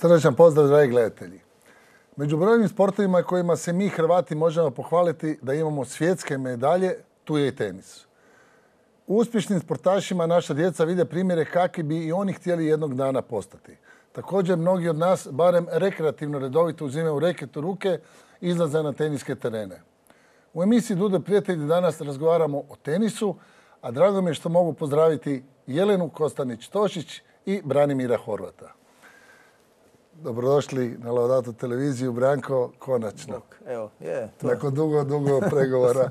Srdačan pozdrav, dragi gledatelji. Među brojnim sportovima kojima se mi Hrvati možemo pohvaliti da imamo svjetske medalje, tu je i tenis. Uspješnim sportašima naša djeca vide primjere kakvi bi i oni htjeli jednog dana postati. Također, mnogi od nas, barem rekreativno redovito uzimaju reket u ruke i izlaze na teniske terene. U emisiji Dudo prijatelji danas razgovaramo o tenisu, a drago mi je što mogu pozdraviti Jelenu Kostanić-Tošić i Branimira Horvata. Dobrodošli na Laudato televiziju, Branko, konačno. Evo, je. To. Nakon dugo pregovora.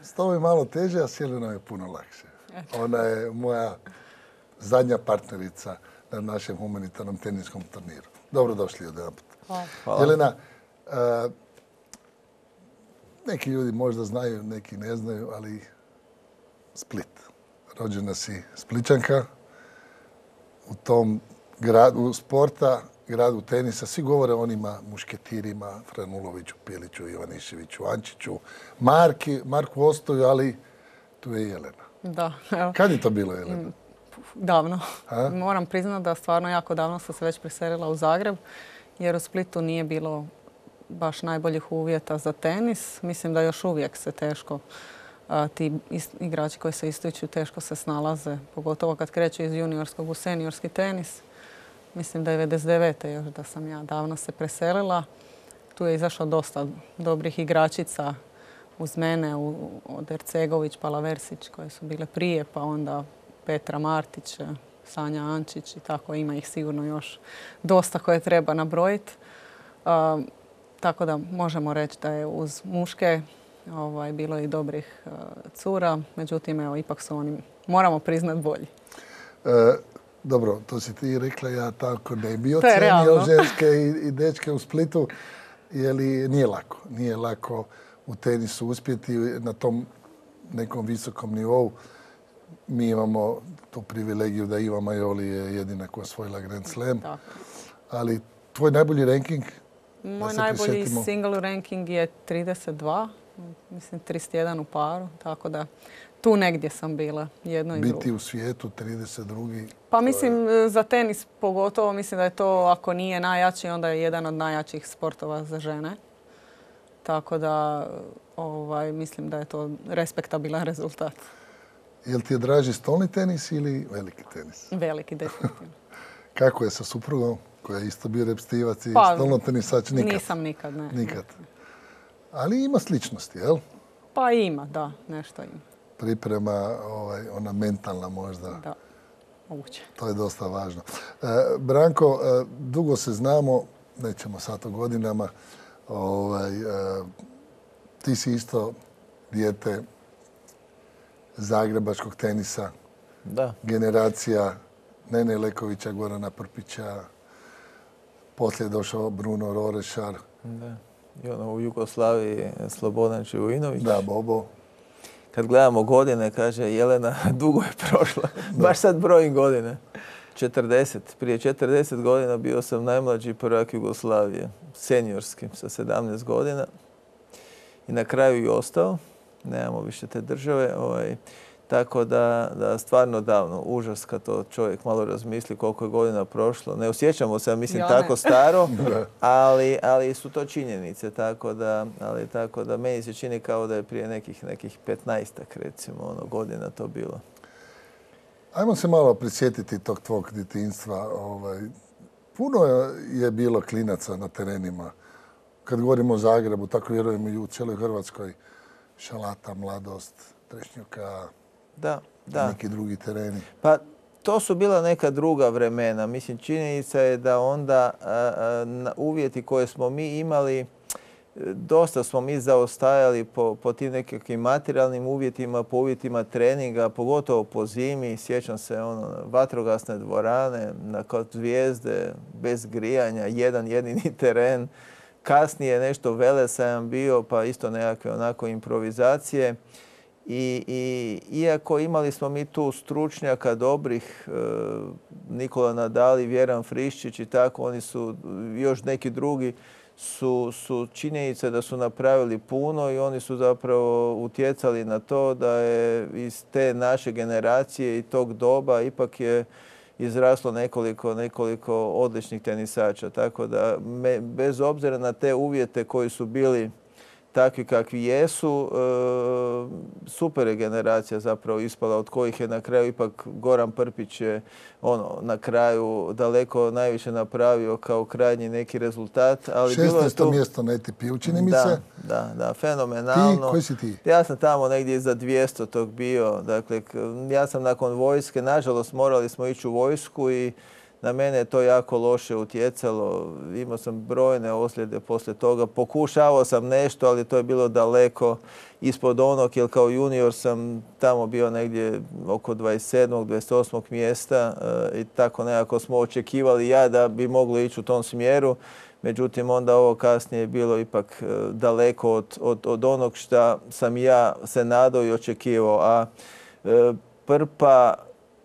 S tobom je malo teže, a s Jelenom je puno lakše. Ona je moja zadnja partnerica na našem humanitarnom teniskom turniru. Dobrodošli od jedan put. Hvala. Jelena, neki ljudi možda znaju, neki ne znaju, ali Split. Rođena si Splićanka. U tom gradu sporta, gradu tenisa, svi govore o onima mušketirima, Franuloviću, Piliću, Ivaniševiću, Ančiću, Marku Ostoju, ali tu je Jelena. Da, evo. Kad je to bilo, Jelena? Davno. A? Moram priznati da stvarno jako davno sam se već preselila u Zagreb, jer u Splitu nije bilo baš najboljih uvjeta za tenis. Mislim da još uvijek se teško, ti igrači koji se ističu teško se snalaze, pogotovo kad kreću iz juniorskog u seniorski tenis. Mislim da je 99. još da sam ja davno se preselila. Tu je izašlo dosta dobrih igračica uz mene, od Ercegović, Palaversić koje su bile prije, pa onda Petra Martić, Sanja Ančić i tako, ima ih sigurno još dosta koje treba nabrojiti. Tako da možemo reći da je uz muške bilo i dobrih cura, međutim evo, ipak su oni, moramo priznati, bolji. Dobro, to si ti rekla, ja tako ne bi ocenio ženske i dečke u Splitu, jer nije lako u tenisu uspjeti na tom nekom visokom nivou. Mi imamo tu privilegiju da Iva Majoli je jedina koja osvojila Grand Slam. Tako. Ali tvoj najbolji ranking? Moj najbolji single ranking je 32, mislim 31 u paru, tako da tu negdje sam bila, jedno i drugo. Biti u svijetu 32. Pa mislim, za tenis pogotovo, mislim da je to, ako nije najjači, onda je jedan od najjačih sportova za žene. Tako da mislim da je to respektabilan rezultat. Jel ti je draži stolni tenis ili veliki tenis? Veliki, definitivno. Kako je sa suprugom, koja je isto bio repstivac i stolno tenisač? Nikad. Nisam nikad, ne. Nikad. Ali ima sličnosti, jel? Pa ima, da, nešto ima. Priprema, ona mentalna možda. Da, moguće. To je dosta važno. Branko, dugo se znamo, nećemo sad o godinama. Ti si isto dijete zagrebačkog tenisa. Da. Generacija Nene Lekovića, Gorana Prpića. Poslije je došao Bruno Rorešar. Da. I u Jugoslaviji Slobodan Živojinović. Da, Bobo. Kad gledamo godine, kaže Jelena, dugo je prošla. Baš sad brojim godine. 40. Prije 40 godina bio sam najmlađi prvak Jugoslavije, seniorski, sa 17 godina. I na kraju i ostao. Nemamo više te države. Tako da stvarno davno, užas kad to čovjek malo razmisli koliko je godina prošlo. Ne osjećamo se, mislim, tako staro, ali su to činjenice. Tako da meni se čini kao da je prije nekih 15-ak recimo godina to bilo. Ajmo se malo prisjetiti tog tvog djetinjstva. Puno je bilo klinaca na terenima. Kad govorimo o Zagrebu, tako vjerujem i u cijeloj Hrvatskoj. Šalata, Mladost, Trešnjaka, neki drugi tereni. Pa to su bila neka druga vremena. Mislim, činjenica je da onda uvjeti koje smo mi imali, dosta smo mi zaostajali po tim nekakvim materijalnim uvjetima, po uvjetima treninga, pogotovo po zimi. Sjećam se vatrogasne dvorane, kod Zvijezde, bez grijanja, jedan jedini teren. Kasnije nešto Velesajam bio, pa isto nekakve onako improvizacije. I iako imali smo mi tu stručnjaka dobrih, Nikola Nadali, Vjeran Friščić i tako, oni su, još neki drugi su činjenice da su napravili puno i oni su zapravo utjecali na to da je iz te naše generacije i tog doba ipak je izraslo nekoliko odličnih tenisača. Tako da, bez obzira na te uvjete koji su bili takvi kakvi jesu, super je generacija zapravo ispala, od kojih je na kraju ipak Goran Prpić je na kraju daleko najviše napravio kao krajnji neki rezultat. Ali 16. mjesto na ATP-u, čini mi se. Da, fenomenalno. Ti? Koji si ti? Ja sam tamo negdje iza 200 tog bio. Dakle, ja sam nakon vojske, nažalost morali smo ići u vojsku i na mene je to jako loše utjecalo. Imao sam brojne ozljede poslije toga. Pokušavao sam nešto, ali to je bilo daleko ispod onog, jer kao junior sam tamo bio negdje oko 27. 28. mjesta i tako nekako smo očekivali da bi moglo ići u tom smjeru. Međutim, onda ovo kasnije je bilo ipak daleko od onog što sam ja se nadao i očekivao. A Prpa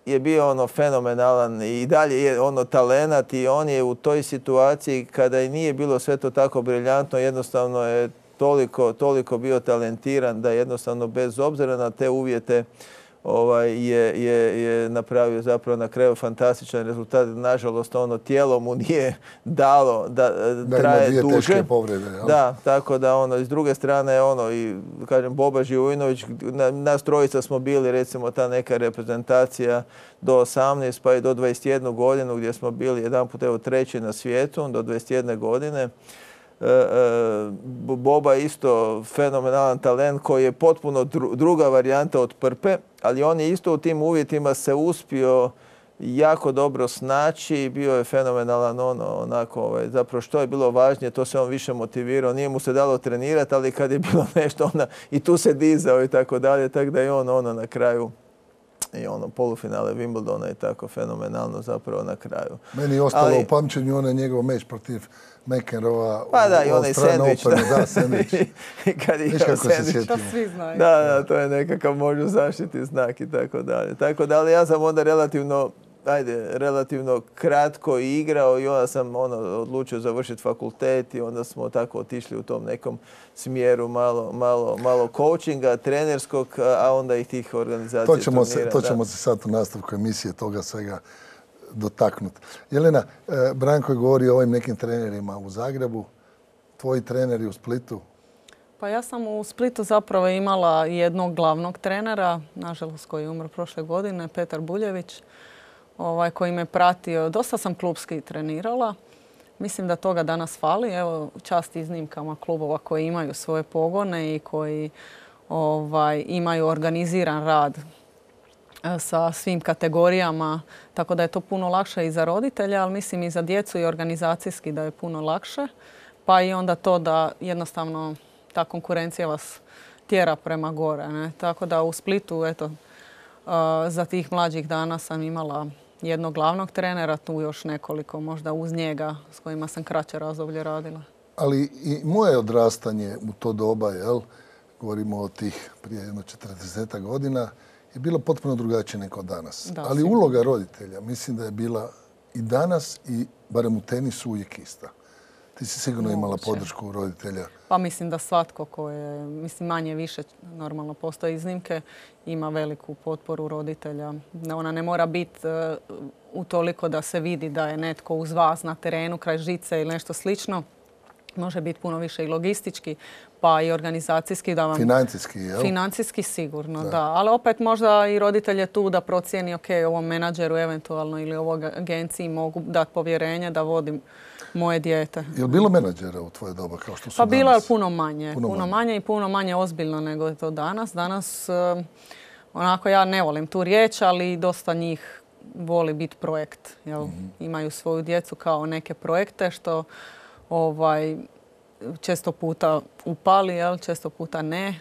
je bio fenomenalan i dalje je talenat i on je u toj situaciji kada i nije bilo sve to tako briljantno, jednostavno je toliko bio talentiran da jednostavno bez obzira na te uvjete je napravio zapravo na kraju fantastičan rezultat. Nažalost, tijelo mu nije dalo da traje duže. Teške povrede, jel? Da, tako da s druge strane i kažem Boba Živojinović, nas trojica smo bili recimo ta neka reprezentacija do 18 pa i do 21 godinu gdje smo bili jedanput treći na svijetu do 21 godine. Boba isto fenomenalan talent koji je potpuno druga varijanta od Prpe, ali on je isto u tim uvjetima se uspio jako dobro snaći, bio je fenomenalan zapravo što je bilo važnije, to se on više motivirao, nije mu se dalo trenirati, ali kad je bilo nešto i tu se dizao i tako dalje, tako da je on na kraju i polufinale Wimbledona i tako fenomenalno zapravo na kraju. Meni je ostalo u pamćenju njegov meč protiv McEnroea pa da, i onaj sendvič. Da, sendvič. Kad je kako se sjetimo. To svi znaju. Da, to je nekakav možda zaštitni znak i tako dalje. Tako da, ali ja sam onda relativno kratko igrao i onda sam odlučio završiti fakultet i onda smo tako otišli u tom nekom smjeru malo coachinga, trenerskog, a onda i tih organizacija turnira. To ćemo se sad u nastavku emisije toga svega dotaknuti. Jelena, Branko je govorio o ovim nekim trenerima u Zagrebu. Tvoji treneri u Splitu? Pa ja sam u Splitu zapravo imala jednog glavnog trenera, nažalost koji je umro prošle godine, Petar Buljević, koji me pratio. Dosta sam klubski trenirala. Mislim da toga danas fali. Evo, čast iznimkama klubova koji imaju svoje pogone i koji imaju organiziran rad sa svim kategorijama, tako da je to puno lakše i za roditelja, ali mislim i za djecu i organizacijski da je puno lakše. Pa i onda to da jednostavno ta konkurencija vas tjera prema gore. Ne? Tako da u Splitu, za tih mlađih dana sam imala jednog glavnog trenera, tu još nekoliko možda uz njega s kojima sam kraće razdoblje radila. Ali i moje odrastanje u to doba, govorimo o tih prije 40 godina, je bilo potpuno drugačije nego danas. Da, ali sigurno. Uloga roditelja mislim da je bila i danas i barem u tenisu uvijek ista. Ti si sigurno imala podršku roditelja. Pa mislim da svatko ko je, manje više, normalno postoje iznimke, ima veliku potporu roditelja. Ona ne mora biti utoliko da se vidi da je netko uz vas na terenu kraj žice ili nešto slično. Može biti puno više i logistički, pa i organizacijski. Da vam... Financijski, jel? Financijski sigurno, da. Ali opet možda i roditelj je tu da procijeni ovom menadžeru eventualno ili ovog agenciji mogu dati povjerenje da vodim moje dijete. Je li bilo menadžera u tvoje doba kao što su danas? Pa bilo je puno manje i puno manje ozbiljno nego je to danas. Danas, onako ja ne volim tu riječ, ali dosta njih voli biti projekt. Jel? Imaju svoju djecu kao neke projekte što često puta upali, često puta ne,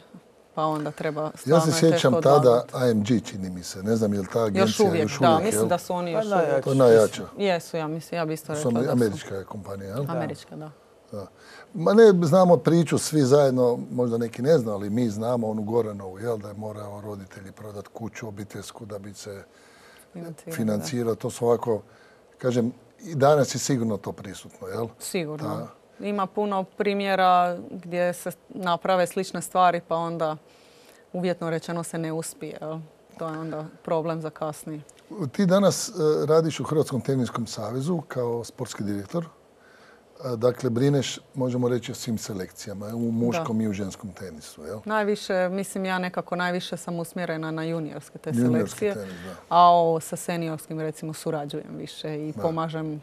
pa onda treba stvarno teško odvagnuti. Ja se sjećam tada AMG, čini mi se. Ne znam je li ta agencija još uvijek. Da, mislim da su oni još uvijek. To je najjača. Jesu, ja bi isto rekla da su. Američka je kompanija, jel? Američka, da. Ma ne znamo priču svi zajedno, možda neki ne znaju, ali mi znamo onu Goranovu, da je morao roditelji prodati kuću obiteljsku da bi se financirao. To su ovako, kažem, i danas je sigurno to prisutno, jel? Sigurno. Ima puno primjera gdje se naprave slične stvari pa onda uvjetno rečeno se ne uspije. Jel? To je onda problem za kasnije. Ti danas radiš u Hrvatskom teniskom savezu kao sportski direktor. Dakle, brineš, možemo reći, o svim selekcijama, u muškom i u ženskom tenisu. Jel? Najviše, mislim ja nekako najviše sam usmjerena na juniorske te selekcije. Tenis, da. A sa seniorskim recimo surađujem više i pomažem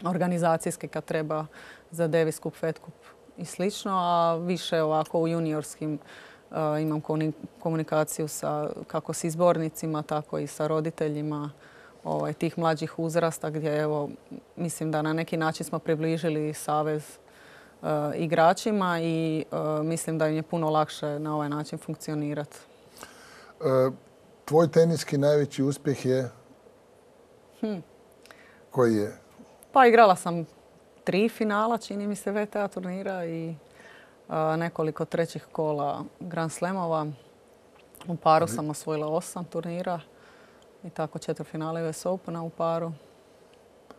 organizacijski kad treba za Davis Cup, Fed Cup i slično. A više ovako u juniorskim imam komunikaciju kako s izbornicima, tako i sa roditeljima tih mlađih uzrasta gdje evo, mislim da na neki način smo približili savez igračima i mislim da im je puno lakše na ovaj način funkcionirati. Tvoj teniski najveći uspjeh je? Koji je? Pa igrala sam 3 finala, čini mi se, VTA turnira i nekoliko trećih kola Grand Slamova. U paru sam osvojila 8 turnira. I tako 4 finale US Opena u paru.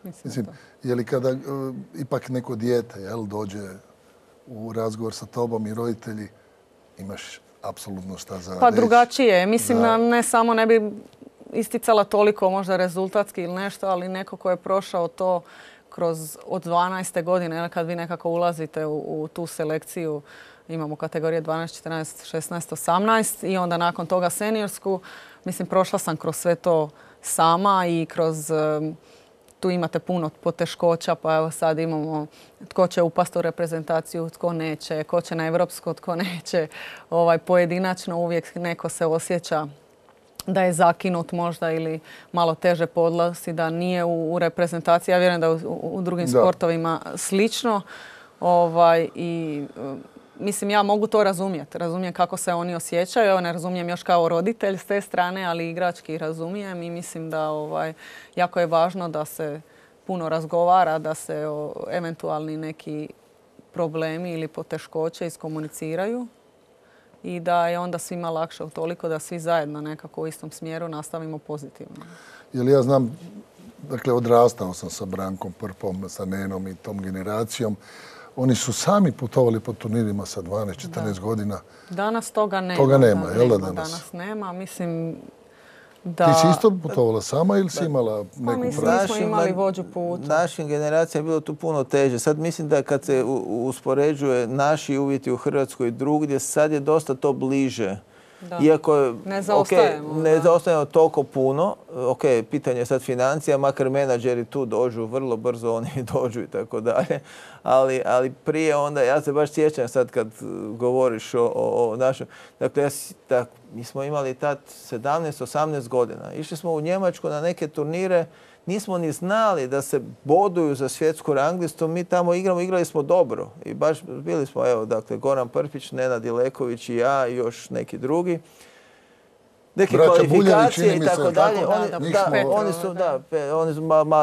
Mislim, je li kada ipak neko dijete dođe u razgovor sa tobom i roditelji, imaš apsolutno šta za reći? Pa drugačije. Mislim da ne samo ne bi isticala toliko možda rezultatski ili nešto, ali neko ko je prošao to od 12. godine, kad vi nekako ulazite u tu selekciju, imamo kategorije 12, 14, 16, 18 i onda nakon toga seniorsku. Mislim, prošla sam kroz sve to sama i tu imate puno poteškoća, pa evo sad imamo tko će upasti u reprezentaciju, tko neće, tko će na evropsko, tko neće. Pojedinačno uvijek neko se osjeća da je zakinut možda ili malo teže podlazi, da nije u reprezentaciji. Ja vjerujem da u drugim sportovima slično. Mislim, ja mogu to razumjeti. Razumijem kako se oni osjećaju. Evo, ne razumijem još kao roditelj s te strane, ali igrački razumijem i mislim da jako je važno da se puno razgovara, da se eventualni neki problemi ili poteškoće iskomuniciraju i da je onda svima lakše utoliko da svi zajedno nekako u istom smjeru nastavimo pozitivno. Jer ja znam, dakle, odrastao sam sa Brankom Prpom, sa Nenom i tom generacijom. Oni su sami putovali po turnirima sa 12-14 godina. Danas toga nema. Toga nema, jel da danas? Danas nema. Mislim da... Ti si isto putovala sama ili si imala neku mislim da smo imali vođu puta. Našim generacijama je bilo tu puno teže. Sad mislim da kad se uspoređuje naši uvjeti u Hrvatskoj i drugdje, sad je dosta to bliže. Da. Iako ne zaostajemo. Ne zaostajemo toliko puno. Pitanje je sad financija, makar menadžeri tu dođu, vrlo brzo oni dođu i tako dalje. Ali prije onda, ja se baš sjećam sad kad govoriš o našem. Dakle, mi smo imali tad 17-18 godina. Išli smo u Njemačku na neke turnire, nismo ni znali da se boduju za svjetsku ranglistu. Mi tamo igrali smo dobro. I baš bili smo, evo, dakle, Goran Prpić, Nenad Ileković i ja i još neki drugi. Neke kvalifikacije i tako dalje. Oni su,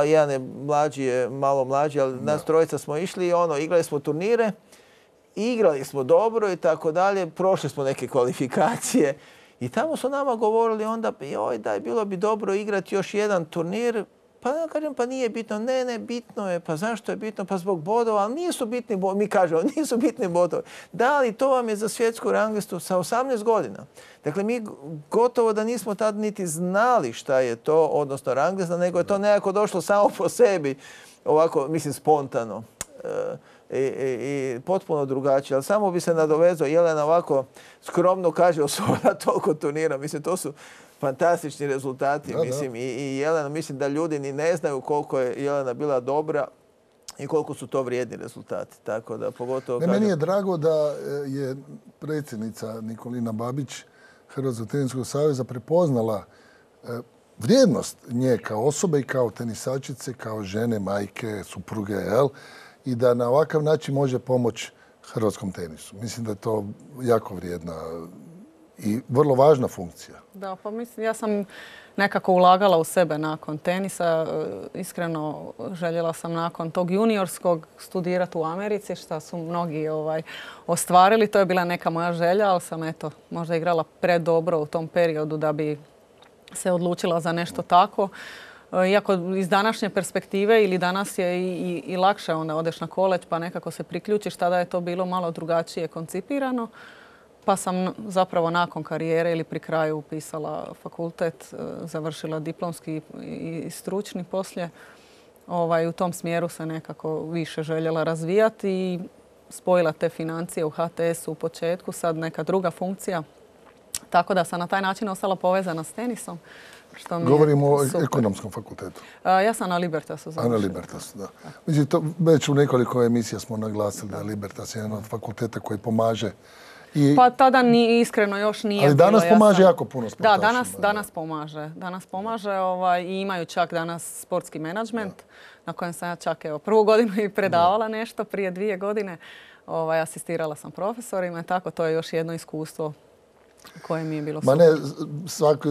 jedan je mlađi, malo mlađi, ali nas trojica smo išli i igrali smo turnire. Igrali smo dobro i tako dalje. Prošli smo neke kvalifikacije. I tamo su nama govorili onda, bilo bi dobro igrati još jedan turnir. Pa ja kažem, pa nije bitno. Ne, bitno je. Pa zašto je bitno? Pa zbog bodova, ali nisu bitni bodovi. Mi kažemo, nisu bitni bodovi. Da, ali to vam je za svjetsku ranglistu sa 18 godina. Dakle, mi gotovo da nismo tad niti znali šta je to, odnosno ranglista, nego je to nekako došlo samo po sebi, ovako, mislim, spontano. I potpuno drugačije. Ali samo bi se nadovezao, Jelena ovako skromno kaže osvojila toliko turnira. Mislim, to su fantastični rezultati. Mislim, i Jelena, mislim da ljudi ni ne znaju koliko je Jelena bila dobra i koliko su to vrijedni rezultati. Tako da pogotovo... Meni je drago da je predsjednica Nikolina Babić Hrvatskog teniskog saveza prepoznala vrijednost nje kao osobe i kao tenisačice, kao žene, majke, supruge, i da na ovakav način može pomoći hrvatskom tenisu. Mislim da je to jako vrijedna i vrlo važna funkcija. Da, pa mislim, ja sam nekako ulagala u sebe nakon tenisa. Iskreno željela sam nakon tog juniorskog studirati u Americi, što su mnogi ostvarili. To je bila neka moja želja, ali sam možda igrala predobro u tom periodu da bi se odlučila za nešto tako. Iako iz današnje perspektive ili danas je i lakše onda odeš na koledž pa nekako se priključiš, tada je to bilo malo drugačije koncipirano. Pa sam zapravo nakon karijere ili pri kraju upisala fakultet, završila diplomski i stručni poslije. U tom smjeru se nekako više željela razvijati i spojila te financije u HTS-u u početku, sad neka druga funkcija. Tako da sam na taj način ostala povezana s tenisom. Govorimo o ekonomskom fakultetu. Ja sam na Libertasu završila. Na Libertasu, da. Mislim, već u nekoliko emisija smo naglasili da je Libertas jedan od fakulteta koji pomaže. Pa tada iskreno još nije bilo. Ali danas pomaže jako puno sportašima. Da, danas pomaže. Danas pomaže i imaju čak danas sportski menadžment na kojem sam ja čak prvu godinu i predavala nešto prije 2 godine. Asistirala sam profesorima i tako, to je još jedno iskustvo koje mi je bilo super. Ma ne,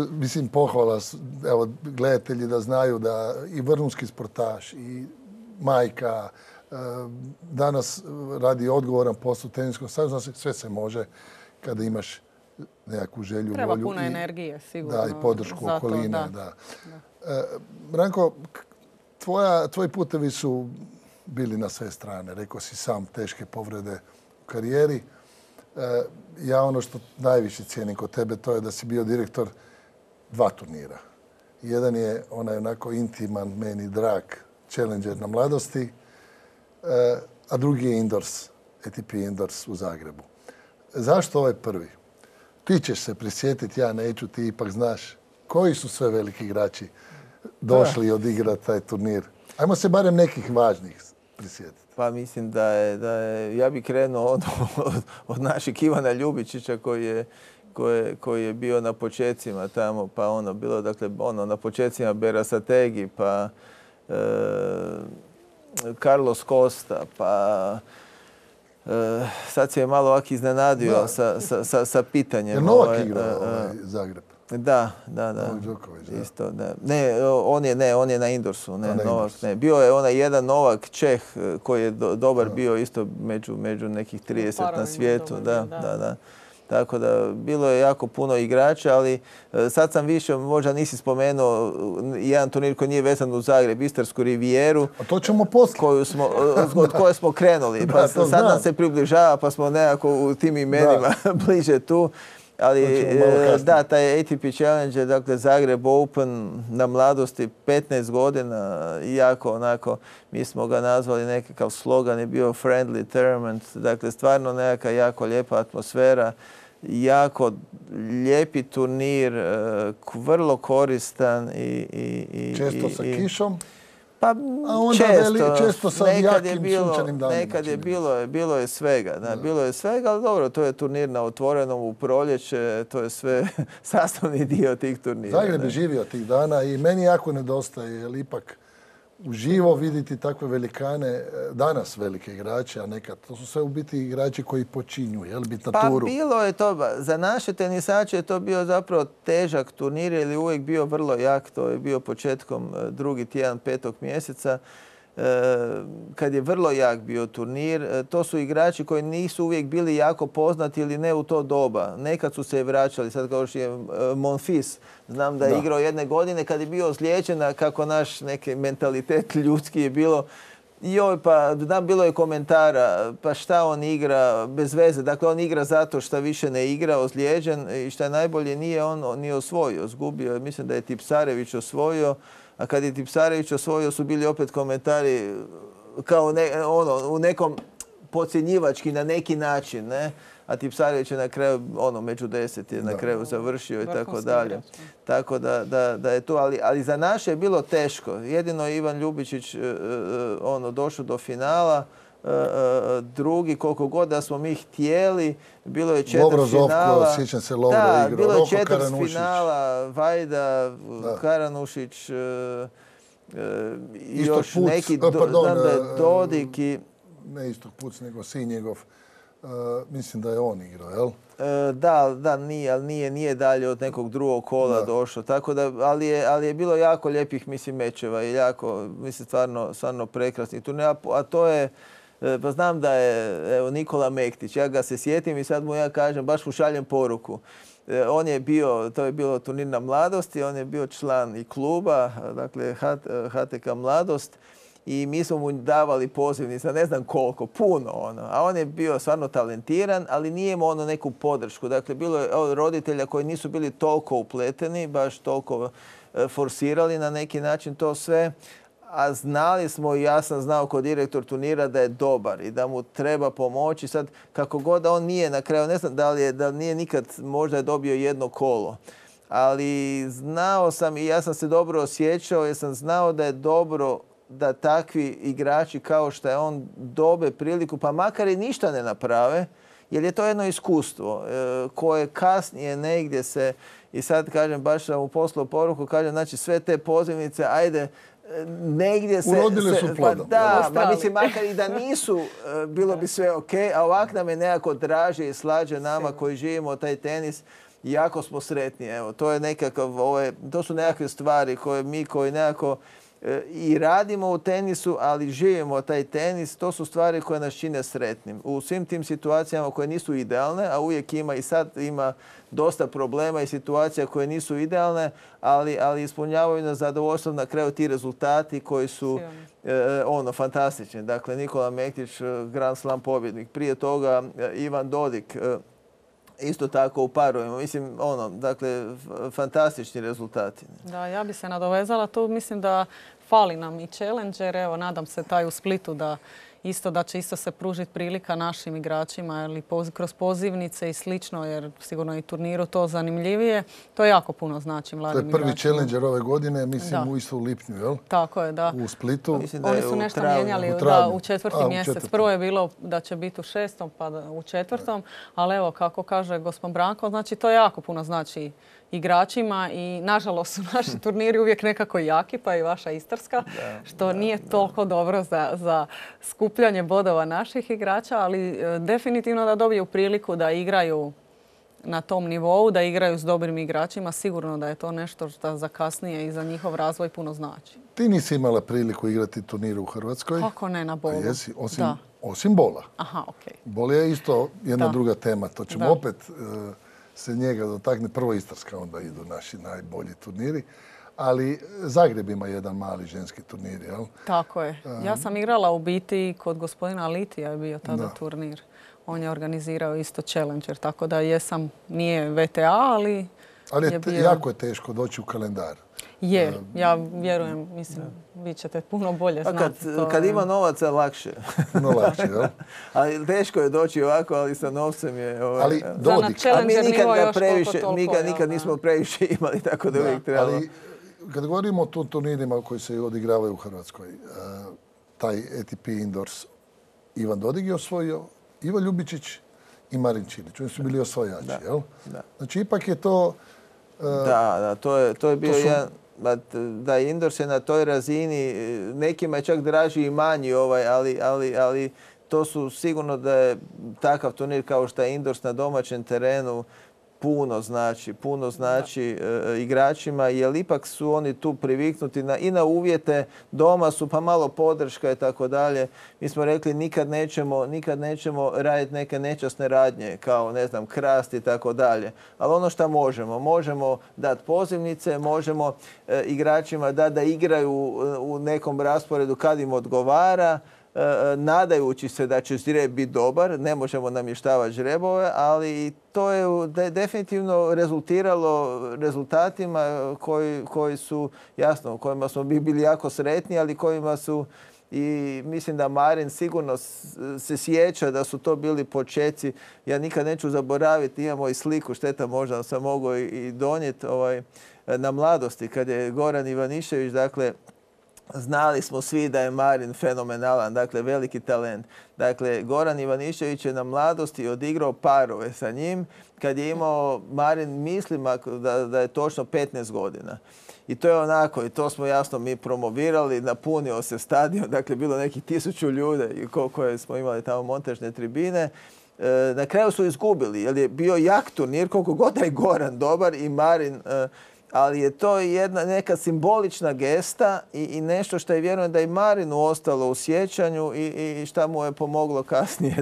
mislim, pohvala, evo, gledatelji da znaju da i vrhunski sportaš i majka danas radi odgovoran posao u Teniskom savezu, sve se može kada imaš nekakvu želju, treba volju. Puno energije, sigurno. Da, i podršku okoline. Da. Branko, tvoji putevi su bili na sve strane. Rekao si sam, teške povrede u karijeri. Ja ono što najviše cijenim kod tebe, to je da si bio direktor 2 turnira. Jedan je onaj onako intiman, meni drag Challenger na Mladosti, a drugi je Indoors, ATP Indoors u Zagrebu. Zašto ovaj prvi? Ti ćeš se prisjetiti, ja neću, ti ipak znaš koji su sve veliki igrači došli odigrati taj turnir. Ajmo se barem nekih važnih prisjetiti. Pa mislim da je ja bih krenuo od našeg Ivana Ljubičića koji je bio na počecima tamo, pa bilo na počecima Berasategui, pa Carlos Costa, pa sad se je malo ovak iznenadio sa pitanjem. Je Novak igrao Zagreb? Da. Novak Đoković, da. Isto, da. On je na Indorsu. Novak, ne. Bio je onaj jedan Novak Čeh koji je dobar bio isto među nekih 30 na svijetu. Da. Tako da bilo je jako puno igrača, ali sad sam više, možda nisi spomenuo jedan turnir koji nije vezan u Zagreb, Istarsku rivijeru. A to ćemo poslije. Od koje smo krenuli. Pa sad nam se približava, pa smo nekako u tim imenima bliže tu. Ali da, taj ATP Challenger, dakle Zagreb Open na Mladosti, 15 godina, jako onako, mi smo ga nazvali, nekakav slogan je bio friendly tournament, dakle stvarno nekakva jako lijepa atmosfera, jako lijepi turnir, vrlo koristan i često sa kišom? Pa često sa jakim sunčanim danima. Nekad je bilo je svega. Da, bilo je svega, ali dobro, to je turnir na otvorenom u proljeće, to je sve sastavni dio tih turnira. Zagreb je živio tih dana i meni jako nedostaje, jer ipak uživo vidjeti takve velikane, danas velike igrače, a nekad. To su sve u biti igrači koji počinju, jel, biti na turu. Pa bilo je to, za naše tenisače je to bio zapravo težak turnir, jer je uvijek bio vrlo jak, to je bio početkom drugi tjedan 5. mjeseca. Kad je vrlo jak bio turnir, to su igrači koji nisu uvijek bili jako poznati ili ne u to doba. Nekad su se vraćali, sad kao što je Monfils, znam da je igrao jedne godine kad je bio ozliječen, kako naš neki mentalitet ljudski je bilo, pa bilo je komentara, pa šta on igra bez veze. Dakle, on igra zato što više ne igra, ozlijeđen, i šta je najbolje, nije on nije osvojio, zgubio. Mislim da je Tipsarević osvojio, a kad je Tipsarević osvojio su bili opet komentari kao u nekom podcjenjivački na neki način, ne? A Tipsarević je na kraju, među 10 je na kraju završio i tako dalje. Tako da je to, ali za naše je bilo teško. Jedino je Ivan Ljubičić došao do finala, drugi, koliko god da smo mi htjeli, bilo je 4 finala. Lovro, sjećam se, Lovro igrao. Bilo je 4 finala, Vajda, Karanušić, i još neki, znam da je Dodik i... Ne Istok Puc, nego sin njegov. Mislim da je on igrao, jel? Da, nije dalje od nekog drugog kola došao. Tako da, ali je bilo jako lijepih, mislim, mečeva i jako, mislim, stvarno prekrasnih turnira. A to je, pa znam da je Nikola Mektić, ja ga se sjetim i sad mu ja kažem, baš mu šaljem poruku. On je bio, to je bilo turnir na Mladosti, on je bio član i kluba, dakle HTK Mladost. i mi smo mu davali pozivnice, ne znam koliko, puno ono. A on je bio stvarno talentiran, ali nije imao ono neku podršku. Dakle, bilo je roditelja koji nisu bili toliko upleteni, baš toliko forsirali na neki način to sve. A znali smo i ja sam znao kao direktor turnira da je dobar i da mu treba pomoći. Sad, kako god da on nije na kraju, ne znam da li nije nikad možda je dobio jedno kolo. Ali znao sam i ja sam se dobro osjećao jer sam znao da je dobro da takvi igrači kao što je on dobe priliku, pa makar i ništa ne naprave, jer je to jedno iskustvo koje kasnije negdje se, i sad kažem, baš sam mu poslao poruku, kažem, znači sve te pozivnice, ajde, negdje se... Urodile su plodom. Pa da, mislim, makar i da nisu, bilo bi sve ok, a ovak nam je nekako draže i slađe nama koji živimo taj tenis. Jako smo sretni, evo, to je nekakav, to su nekakve stvari koje mi koji nekako i radimo u tenisu, ali živimo taj tenis, to su stvari koje nas čine sretnim. U svim tim situacijama koje nisu idealne, a uvijek ima i sad ima dosta problema i situacija koje nisu idealne, ali ispunjavaju nas zadovoljstvom na kraju ti rezultati koji su fantastični. Dakle, Nikola Mektić, Grand Slam pobjednik. Prije toga Ivan Dodig, isto tako u parovima. Mislim, dakle, fantastični rezultati. Da, ja bi se nadovezala tu. Mislim da fali nam i Challenger. Evo, nadam se taj u Splitu da će isto se pružiti prilika našim igračima ili kroz pozivnice i slično, jer sigurno i turniru to zanimljivije. To jako puno znači mladim igračima. To je prvi Challenger ove godine, mislim isto u lipnju, jel? Tako je, da. U Splitu. Oni su nešto mijenjali u četvrti mjesec. Prvo je bilo da će biti u 6. pa u 4. Ali evo, kako kaže gospodin Branko, znači to jako puno znači igračima i nažalost su naši turniri uvijek nekako jaki, pa i vaša Istarska, što nije toliko dobro za skupljanje bodova naših igrača, ali definitivno da dobiju priliku da igraju na tom nivou, da igraju s dobrim igračima. Sigurno da je to nešto što za kasnije i za njihov razvoj puno znači. Ti nisi imala priliku igrati turnir u Hrvatskoj? Kako ne, na Bolu. Jesi, osim Bola. Aha, okej. Bol je isto jedna druga tema. To ćemo opet se njega dotakne. Prvo Istarska, onda idu naši najbolji turniri. Ali Zagreb ima jedan mali ženski turnir, jel? Tako je. Ja sam igrala u biti kod gospodina Litija je bio tada turnir. On je organizirao isto Challenger, tako da jesam, nije VTA, ali je bio... jako je teško doći u kalendar. Je, ja vjerujem, mislim, vi ćete puno bolje znati. Kad ima novaca, lakše. Puno lakše, jel? Ali teško je doći ovako, ali sa novcem je... Ali Dodig. A mi nikad nismo previše imali, tako da uvijek trebalo. Ali kad govorimo o turnirima koji se odigravaju u Hrvatskoj, taj ATP Indoors, Ivan Dodig je osvojio, Ivo Ljubičić i Marin Čilić. Oni su bili osvajači, jel? Da. Znači, ipak je to... Da, to je bio jedan... Da, Indoors je na toj razini, nekima je čak draži i manji, ali to su sigurno da je takav turnir kao što je Indoors na domaćem terenu puno znači igračima, jer ipak su oni tu priviknuti i na uvjete, doma su pa malo podrška i tako dalje. Mi smo rekli nikad nećemo raditi neke nečasne radnje kao, ne znam, krasti i tako dalje. Ali ono što možemo dati pozivnice, možemo igračima da igraju u nekom rasporedu kad im odgovara, nadajući se da će žreb biti dobar, ne možemo namještavati žrebove, ali to je definitivno rezultiralo rezultatima koji su, jasno, kojima smo bili jako sretni, ali kojima su i mislim da Marin sigurno se sjeća da su to bili počeci. Ja nikad neću zaboraviti, imamo i sliku, šteta možda sam mogao i donijeti na mladosti, kad je Goran Ivanišević, dakle, znali smo svi da je Marin fenomenalan, dakle veliki talent. Dakle, Goran Ivanišević je na mladosti odigrao parove sa njim kad je imao Marin, mislim da je točno 15 godina. I to je onako, i to smo jasno mi promovirali, napunio se stadion, dakle bilo nekih 1000 ljudi koje smo imali tamo montažne tribine. Na kraju su izgubili, jer je bio jak turnir, koliko god da je Goran dobar i Marin... Ali je to neka simbolična gesta i nešto što je vjerujem da i Marinu ostalo u sjećanju i šta mu je pomoglo kasnije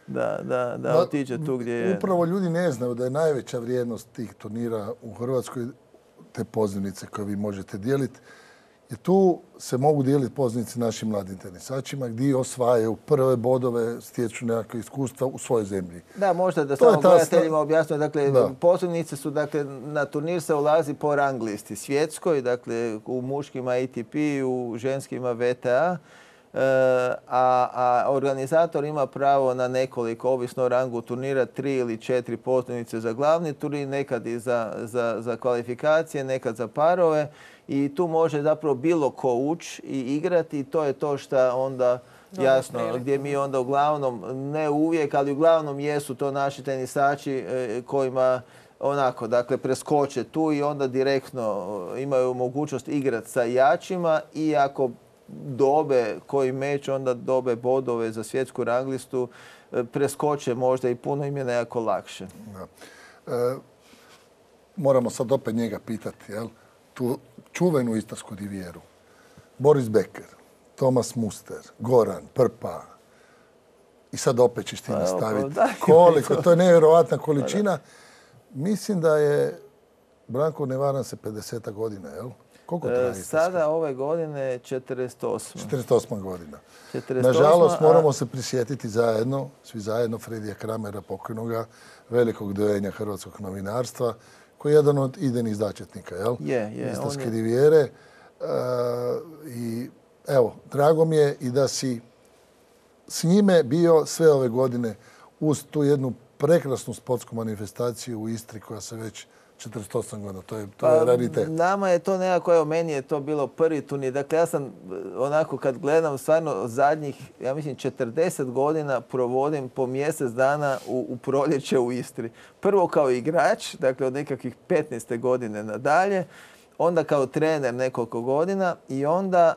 da otiđe tu gdje je. Upravo ljudi ne znaju da je najveća vrijednost tih turnira u Hrvatskoj, te pozivnice koje vi možete dijeliti, I tu se mogu dijeliti poznici našim mladim tenisačima gdje osvajaju prve bodove, stječu nekakve iskustva u svojoj zemlji. Da, možda da samo gledateljima objasnimo. Dakle, pozivnice su, dakle, na turnir se ulazi po rang listi svjetskoj, dakle, u muškima ATP, u ženskima VTA, a organizator ima pravo na nekoliko, ovisno o rangu turnira, 3 ili 4 pozivnice za glavni turnir, nekad i za kvalifikacije, nekad za parove. I tu može zapravo bilo ko ući i igrati i to je to što onda jasno, gdje mi onda uglavnom, ne uvijek, ali uglavnom jesu to naši tenisači kojima onako, dakle, preskoče tu i onda direktno imaju mogućnost igrati sa jačima i ako dobe koji meč, onda dobe bodove za svjetsku ranglistu, preskoče možda i puno im je nekako lakše. Moramo sad opet njega pitati, jel? Tu čuvenu istarsku rivijeru. Boris Becker, Tomas Muster, Goran, Prpa. I sad opet ćeš ti nastaviti. Koliko, to je nevjerojatna količina. Mislim da je, Branko, ne varam se, 50 godina, jel? Koliko traje istarska? Sada ove godine 48. 48 godina. Nažalost, moramo se prisjetiti zajedno, svi zajedno, Fredija Kramera, pokojnoga, velikog dojenja hrvatskog novinarstva, koji je jedan od idejnih začetnika, jel? Istarske rivijere. I evo, drago mi je i da si s njime bio sve ove godine uz tu jednu prekrasnu sportsku manifestaciju u Istri koja se već 48 godina. To je raritet. Nama je to nekako, evo, meni je to bilo prvi turnir. Dakle, ja sam onako kad gledam stvarno zadnjih, ja mislim, 40 godina provodim po mjesec dana u proljeće u Istri. Prvo kao igrač, dakle od nekakvih 15. godine nadalje, onda kao trener nekoliko godina i onda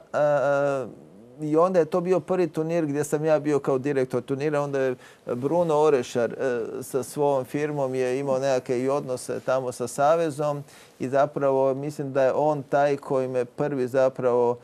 je to bio prvi turnir gdje sam ja bio kao direktor turnira. Onda je Bruno Orešar sa svojom firmom je imao nekakve i odnose tamo sa Savezom i zapravo mislim da je on taj koji me prvi zapravo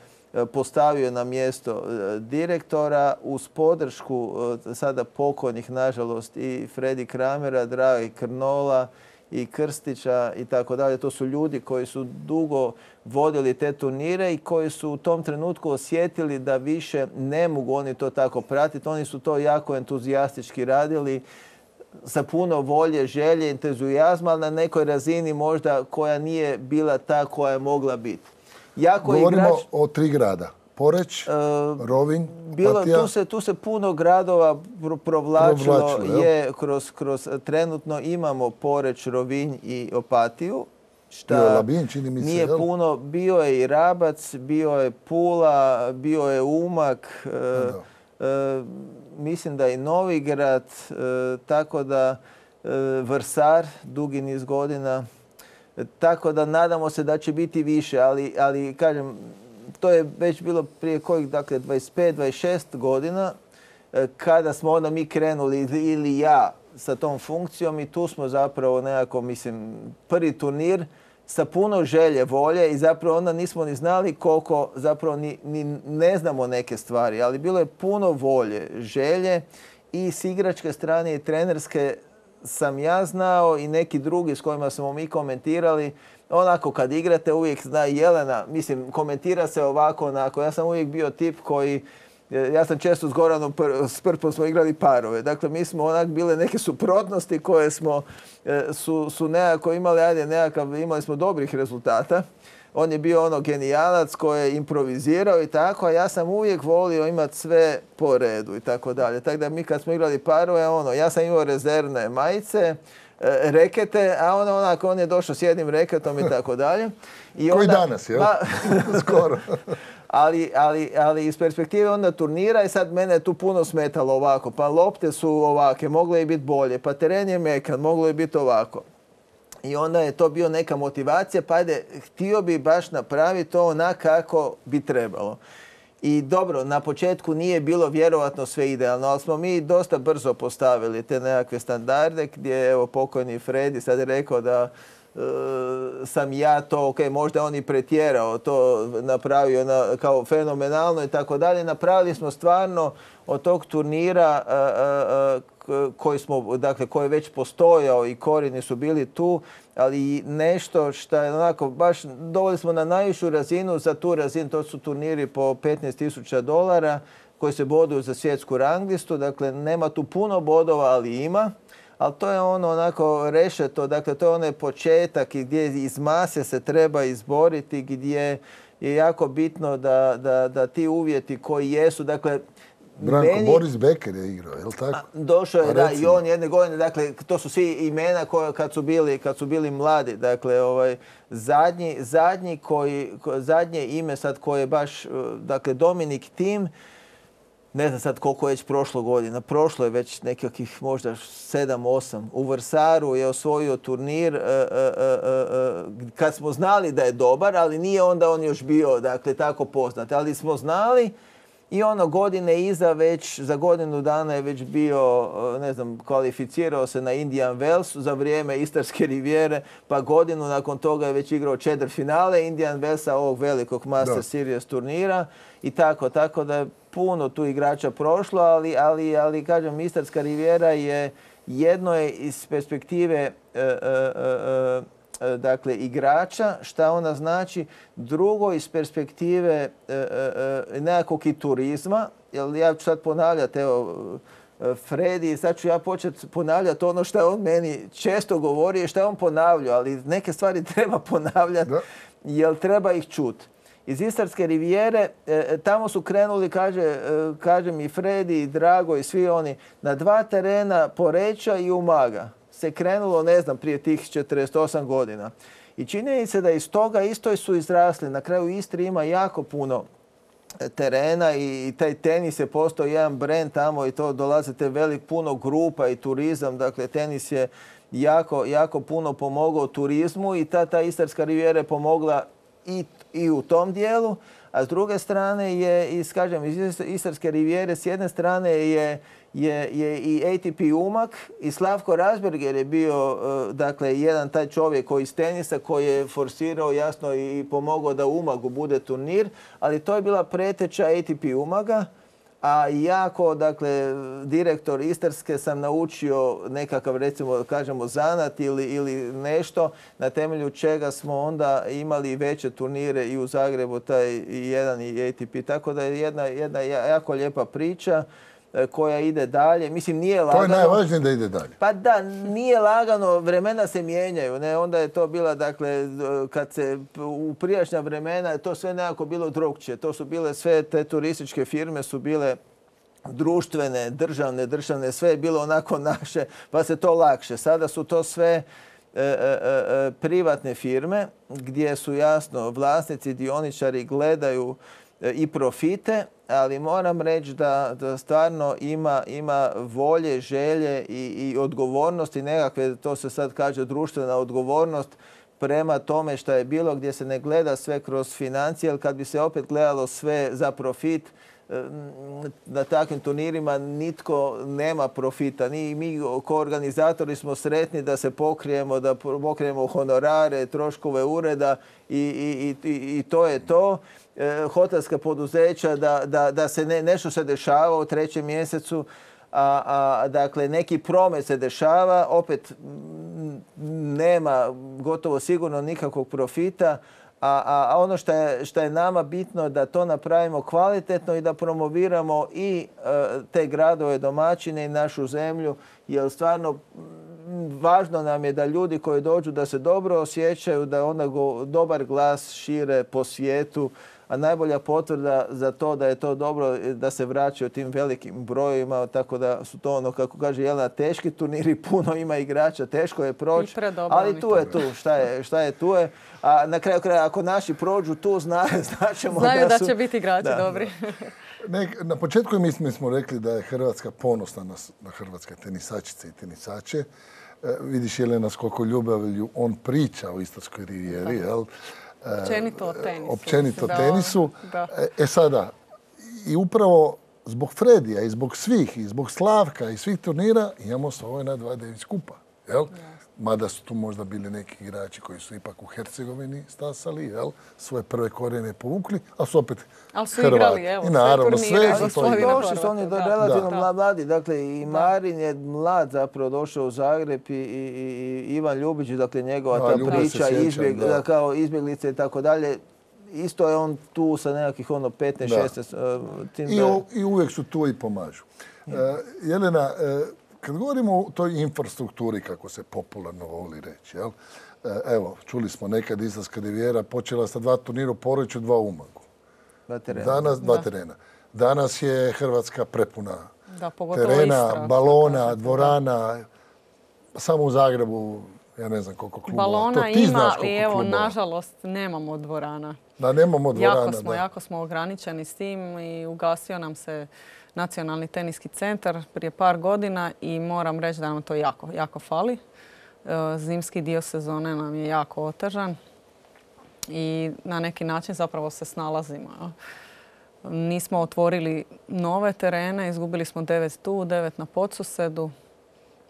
postavio na mjesto direktora uz podršku sada pokojnih, nažalost, i Fredi Kramera, Dragi Krnola i Krstića i tako dalje. To su ljudi koji su dugo vodili te turnire i koji su u tom trenutku osjetili da više ne mogu oni to tako pratiti. Oni su to jako entuzijastički radili sa puno volje, želje, entuzijazma, ali na nekoj razini možda koja nije bila ta koja je mogla biti. Govorimo o 3 grada. Poreč, Rovinj, Opatija. Tu se puno gradova provlačilo je kroz trenutno imamo Poreč, Rovinj i Opatiju. Bio je Labin, čini mi se. Nije puno, bio je i Rabac, bio je Pula, bio je Umag, mislim da i Novigrad, tako da Vrsar, dugi niz godina. Tako da nadamo se da će biti više, ali kažem, to je već bilo prije kojih, dakle, 25-26 godina kada smo onda mi krenuli ili ja sa tom funkcijom i tu smo zapravo nekako, mislim, prvi turnir sa puno želje, volje i zapravo onda nismo ni znali koliko, zapravo ni ne znamo neke stvari, ali bilo je puno volje, želje i s igračke strane i trenerske sam ja znao i neki drugi s kojima smo mi komentirali. Onako kad igrate uvijek zna Jelena, mislim, komentira se ovako, onako. Ja sam uvijek bio tip koji, ja sam često s Goranom Prpom smo igrali parove. Dakle, mi smo onak bile neke suprotnosti koje smo su nekako imali, imali smo dobrih rezultata. On je bio ono genijalac koji je improvizirao i tako, a ja sam uvijek volio imati sve po redu i tako dalje. Tako da mi kad smo igrali parove, ja sam imao rezervne majice, rekete, a on je došao s jednim reketom i tako dalje. Koji danas, jel? Skoro. Ali iz perspektive onda turnira i sad mene je tu puno smetalo ovako. Pa lopte su ovake, moglo je biti bolje, pa teren je mekan, moglo je biti ovako. I onda je to bio neka motivacija, pa ajde, htio bi baš napraviti to onak kako bi trebalo. I dobro, na početku nije bilo vjerovatno sve idealno, ali smo mi dosta brzo postavili te nekakve standarde gdje, evo, pokojni Fredi sad je rekao da sam ja to, ok, možda on i pretjerao, to napravio kao fenomenalno i tako dalje. Napravili smo stvarno od tog turnira koji je već postojao i korijeni su bili tu, ali nešto što je onako baš doveli smo na najvišu razinu. Za tu razinu to su turniri po $15,000 koji se boduju za svjetsku ranglistu. Dakle, nema tu puno bodova, ali ima. Ali to je ono onako rešeto, dakle to je onaj početak gdje iz mase se treba izboriti, gdje je jako bitno da ti uvjeti koji jesu, dakle... Branko, Boris Becker je igrao, je li tako? Došao je, da, i on jedne godine, dakle, to su svi imena kad su bili mladi, dakle, zadnje ime sad koje je baš, dakle, Dominik Thiem, ne znam sad koliko je već prošlo godina, prošlo je već nekakvih možda 7-8. U Vrsaru je osvojio turnir kad smo znali da je dobar, ali nije onda on još bio, dakle, tako poznat. Ali smo znali i godine iza već, za godinu dana je već bio, ne znam, kvalificirao se na Indian Wells za vrijeme Istarske rivijere, pa godinu nakon toga je već igrao četvrtfinale Indian Wellsa, ovog velikog Master Series turnira i tako da je puno tu igrača prošlo, ali kažem, Istarska rivijera je jedno je iz perspektive dakle, igrača, šta ona znači, drugo iz perspektive nekakvog i turizma, jer ja ću sad ponavljati, evo, Fredi, sad ću ja početi ponavljati ono što je on meni često govori i što je on ponavljao, ali neke stvari treba ponavljati, jer treba ih čuti. Iz Istarske rivijere, tamo su krenuli, kaže mi Fredi i Drago i svi oni, na 2 terena Poreča i Umaga se krenulo, ne znam, prije tih 48 godina. I čini se da iz toga isto su izrasli. Na kraju Istri ima jako puno terena i taj tenis je postao jedan brend tamo i to dolaze puno grupa i turizam. Dakle, tenis je jako puno pomogao turizmu i ta Istarska rivijera je pomogla i u tom dijelu. A s druge strane je, iz Istarske rivijere, s jedne strane je i ATP Umag i Slavko Razberger je bio, dakle, jedan taj čovjek koji iz tenisa koji je forsirao jasno i pomogao da u Umagu bude turnir, ali to je bila preteča ATP Umaga, a jako, dakle, direktor Istarske sam naučio nekakav, recimo, kažemo, zanat ili nešto na temelju čega smo onda imali veće turnire i u Zagrebu, taj jedan i ATP. Tako da je jedna jako lijepa priča koja ide dalje. Mislim, nije lagano. To je najvažnije da ide dalje. Pa da, nije lagano, vremena se mijenjaju. Ne? Onda je to bila, dakle, kad se u prijašnja vremena to sve nekako bilo drukčije. To su bile sve te turističke firme su bile društvene, državne, sve je bilo onako naše, pa se to lakše. Sada su to sve privatne firme gdje su jasno vlasnici, dioničari gledaju i profite, ali moram reći da stvarno ima volje, želje i odgovornosti nekakve, to se sad kaže društvena odgovornost prema tome što je bilo, gdje se ne gleda sve kroz financije, jer kad bi se opet gledalo sve za profit, na takvim turnirima nitko nema profita. Mi kao organizatori smo sretni da se pokrijemo honorare, troškove ureda i to je to. Hotelska poduzeća da se nešto se dešava u 3. mjesecu, dakle neki promet se dešava, opet nema gotovo sigurno nikakvog profita. A ono što je nama bitno da to napravimo kvalitetno i da promoviramo i te gradove domaćine i našu zemlju, jer stvarno važno nam je da ljudi koji dođu da se dobro osjećaju, da onda dobar glas šire po svijetu, a najbolja potvrda za to da je to dobro da se vraćaju tim velikim brojevima, tako da su to ono, kako kaže Jelena, teški turniri, puno ima igrača, teško je proći, ali tu je tu, šta je tu je. A na kraju kraja, ako naši prođu tu, znaćemo da će biti igrači dobri. Na početku mi smo rekli da je Hrvatska ponosna na hrvatske tenisačice i tenisače. Vidiš, Jelena, s koliko ljubavlju on priča o Istarskoj rivijeri, jel? Općenito o tenisu. Sada, i upravo zbog Fredija i zbog svih, i zbog Slavka i svih turnira imamo Osvojena 2 Davis kupa. Jel? mada su tu možda bili neki igrači koji su ipak u Hercegovini stasali, jel? Svoje prve korijene povukli, ali su opet ali su Hrvati. igrali, evo, I naravno, sve Ali su to igrali. došli su oni relativno mladi. Dakle, i Marin je mlad zapravo došao u Zagreb i Ivan Ljubić, dakle njegova ta priča, kao izbjeglice i tako dalje. Isto je on tu sa nekakvih 15-16. I uvijek su tu i pomažu. Jelena, kad govorimo o toj infrastrukturi, kako se popularno voli reći, jel? Evo, čuli smo nekad Istarska rivijera počela sa 2 turnira u Poreču, 2 u Umagu. 2 terena. Danas je Hrvatska prepuna terena, Istra, balona, dvorana. Samo u Zagrebu, ja ne znam koliko klubova. Balona to ti ima, znaš ali evo, klubova. Nažalost, nemamo dvorana. Da, nemamo dvorana. Jako smo ograničeni s tim i ugasio nam se Nacionalni teniski centar prije par godina i moram reći da nam to jako fali. Zimski dio sezone nam je jako otežan i na neki način zapravo se snalazimo. Nismo otvorili nove terene, izgubili smo 9 tu, 9 na Podsusedu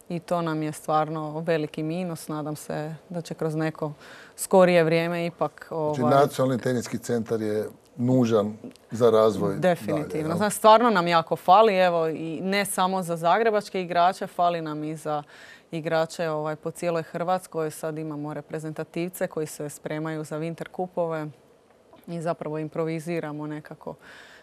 i to nam je stvarno veliki minus. Nadam se da će kroz neko skorije vrijeme ipak... Znači, Nacionalni teniski centar je nužan za razvoj. Definitivno. Znači, stvarno nam jako fali, evo, i ne samo za zagrebačke igrače, fali nam i za igrače po cijeloj Hrvatskoj. Sad imamo reprezentativce koji se spremaju za Winter kupove i zapravo improviziramo nekako.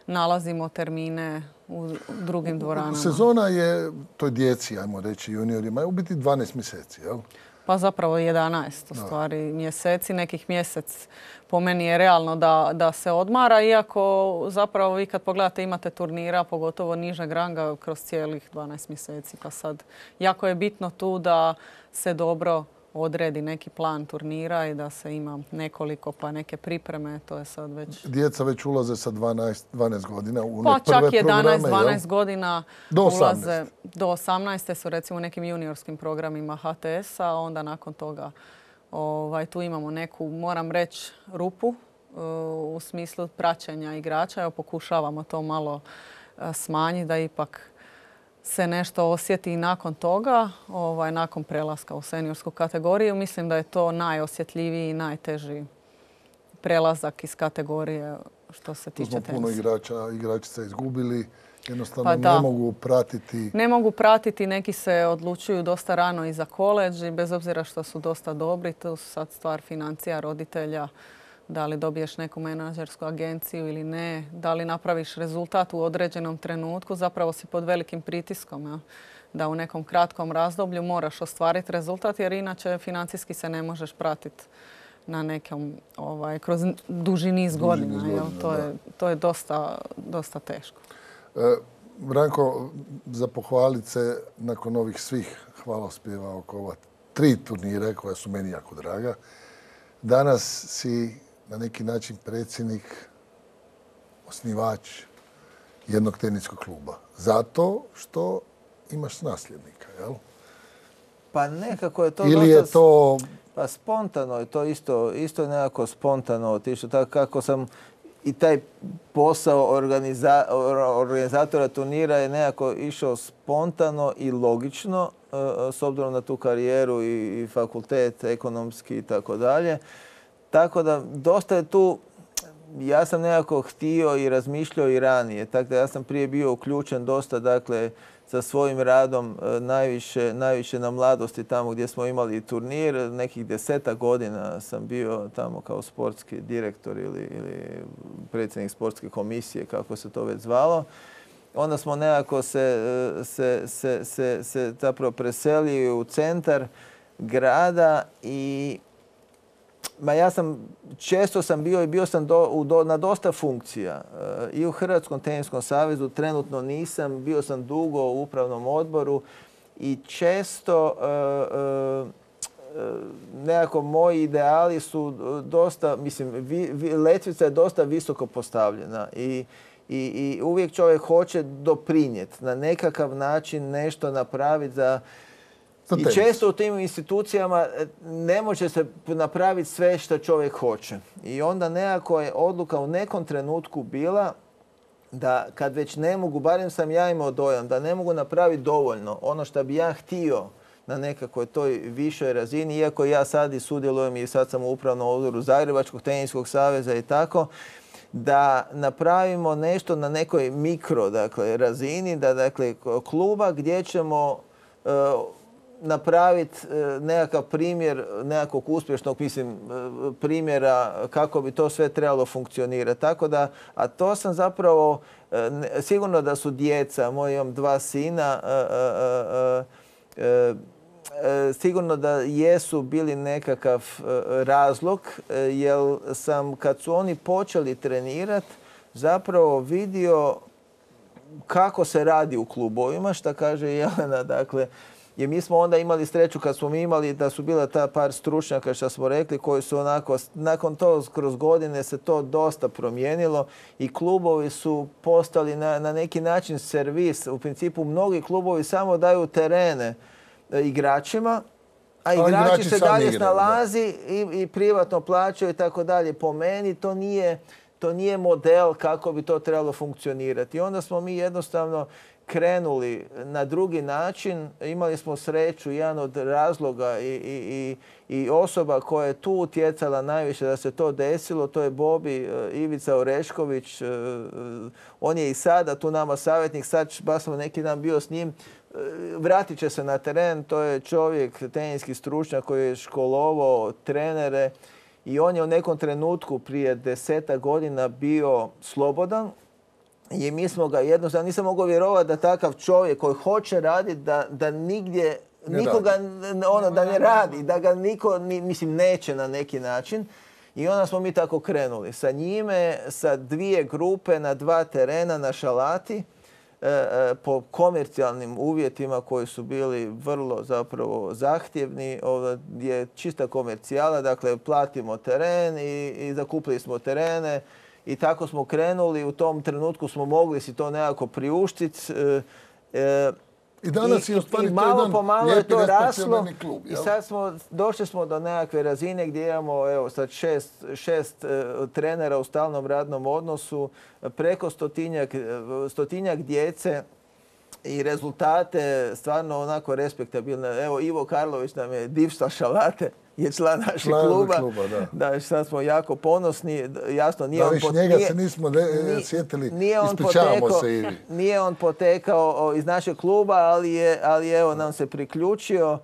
Nalazimo termine u drugim dvoranama. Sezona je toj djeci, ajmo reći juniorima, je u biti 12 mjeseci, jel? Pa zapravo 11 u stvari mjeseci, nekih mjesec po meni je realno da se odmara, iako zapravo vi kad pogledate imate turnira, pogotovo nižeg ranga kroz cijelih 12 mjeseci. Pa sad jako je bitno tu da se dobro odredi neki plan turnira i da se ima nekoliko pa neke pripreme, to je sad već... Djeca već ulaze sa 12 godina u pa prve čak 11-12 jel? godina ulaze. Do 18. su recimo u nekim juniorskim programima HTS-a, onda nakon toga tu imamo neku, moram reći, rupu u smislu praćenja igrača. Evo, pokušavamo to malo smanjiti da ipak se nešto osjeti i nakon toga, nakon prelaska u seniorsku kategoriju. Mislim da je to najosjetljiviji i najteži prelazak iz kategorije što se tiče tenisa. Puno igračica izgubili, jednostavno ne mogu pratiti. Ne mogu pratiti, neki se odlučuju dosta rano i za koledž i bez obzira što su dosta dobri, to su sad stvar financija, roditelja. Da li dobiješ neku menadžersku agenciju ili ne, da li napraviš rezultat u određenom trenutku, zapravo si pod velikim pritiskom. Ja? Da u nekom kratkom razdoblju moraš ostvariti rezultat jer inače financijski se ne možeš pratiti na nekom, kroz duži niz godina. To je dosta teško. Branko, za pohvaliti se nakon ovih svih hvalospjeva oko ova 3 turnira koja su meni jako draga. Danas si na neki način predsjednik, osnivač jednog teniskog kluba. Zato što imaš nasljednika, jel? Pa nekako je to ili je to... Pa spontano je to isto je nekako spontano otišlo. Tako kako sam i taj posao organizatora turnira je nekako išao spontano i logično s obzirom na tu karijeru i fakultet ekonomski i tako dalje. Tako da dosta je tu, ja sam nekako htio i razmišljao i ranije. Tako da ja sam prije bio uključen dosta, dakle, sa svojim radom najviše na mladosti tamo gdje smo imali turnir. Nekih 10 godina sam bio tamo kao sportski direktor ili predsjednik sportske komisije, kako se to već zvalo. Onda smo nekako se zapravo preselili u centar grada i često sam bio i bio sam na dosta funkcija. I u Hrvatskom teniskom savezu trenutno nisam, bio sam dugo u upravnom odboru i često nekako moji ideali su dosta, mislim, letvica je dosta visoko postavljena i uvijek čovjek hoće doprinijeti na nekakav način nešto napraviti za... I često u tim institucijama ne može se napraviti sve što čovjek hoće. I onda nekako je odluka u nekom trenutku bila da kad već ne mogu, barem sam ja imao dojam, da ne mogu napraviti dovoljno ono što bi ja htio na nekakvoj toj višoj razini, iako ja sad i sudjelujem i sad sam u upravnom odboru Zagrebačkog teniskog saveza i tako, da napravimo nešto na nekoj mikro razini, kluba gdje ćemo napraviti nekakav primjer nekakvog uspješnog primjera kako bi to sve trebalo funkcionirati. Tako da, a to sam zapravo, sigurno da su djeca, imam 2 sina, sigurno da jesu bili nekakav razlog, jer sam kad su oni počeli trenirati zapravo vidio kako se radi u klubovima, što kaže Jelena, jer mi smo onda imali sreću kad smo mi imali da su bila ta par stručnjaka što smo rekli koji su onako, nakon to kroz godine se to dosta promijenilo i klubovi su postali na neki način servis. U principu mnogi klubovi samo daju terene igračima, a igrači se dalje snalazi i privatno plaćaju i tako dalje. Po meni to nije model kako bi to trebalo funkcionirati. I onda smo mi jednostavno krenuli na drugi način. Imali smo sreću, jedan od razloga i osoba koja je tu utjecala najviše da se to desilo, to je Bobi Ivica Orešković. On je i sada tu nama savjetnik, sad baš sam neki dan bio s njim. Vratit će se na teren, to je čovjek, teniski stručnjak koji je školovao trenere i on je u nekom trenutku prije 10 godina bio slobodan i mi smo ga jednostavno, nisam mogao vjerovati da takav čovjek koji hoće raditi, da nigdje nikoga da ne radi, da ga niko neće na neki način. I onda smo mi tako krenuli sa njime, sa 2 grupe na 2 terena na Šalati, po komercijalnim uvjetima koji su bili vrlo zapravo zahtjevni. Ovo je čista komercijala, dakle platimo teren i zakupili smo terene i tako smo krenuli. U tom trenutku smo mogli si to nekako priuštiti. I danas je u stvari malo po malo je to raslo klub, i sad došli smo do nekakve razine gdje imamo sad 6 trenera u stalnom radnom odnosu, preko stotinjak djece i rezultate stvarno onako respektabilne. Evo Ivo Karlović nam je divša Šalate, je član našeg kluba. Da, sad smo jako ponosni. Jasno, njega se nismo sjetili, ispričavamo se i vi. Nije on potekao iz našeg kluba, ali evo nam se priključio.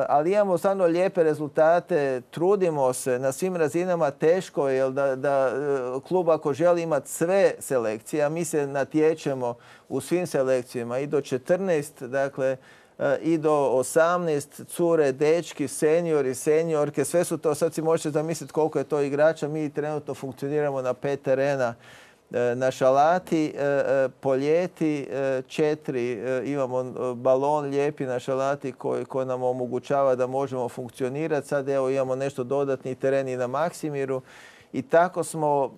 Ali imamo stvarno lijepe rezultate, trudimo se na svim razinama, teško je da klub ako želi imati sve selekcije, a mi se natječemo u svim selekcijama i do 14, dakle i do 18, cure, dečki, seniori, seniorke, sve su to, sad si možete zamisliti koliko je to igrača, mi trenutno funkcioniramo na 5 terena na Šalati, po ljeti 4 imamo balon lijepi na Šalati koji nam omogućava da možemo funkcionirati. Sad evo imamo nešto dodatni tereni na Maksimiru i tako smo,